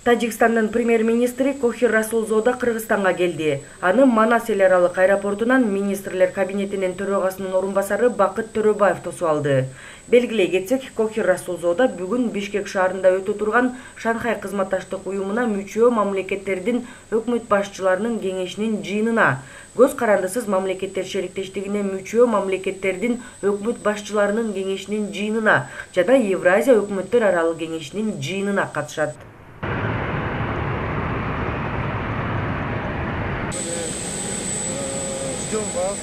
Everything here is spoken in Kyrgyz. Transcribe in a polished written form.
Тажикстандын премьер-министри Кохир Расулзода Кыргызстанга келди. Аны Манас эл аралык аэропортунан министрлер кабинетинин төрагасынын орун басары Бакыт Төрөбаев тосуп алды. Белгилей кетсек, Кохир Расулзода бүгүн Бишкек шаарында өтө турган Шанхай кызматташтык уюмуна мүчө мамлекеттердин өкмөт башчыларынын кеңешинин жыйынына, көз карандысыз мамлекеттер шериктештигине мүчө мамлекеттердин өкмөт башчыларынын кеңешинин жыйынына жана Евразия өкмөттөр аралык кеңешинин жыйынына катышат. Ждем вас.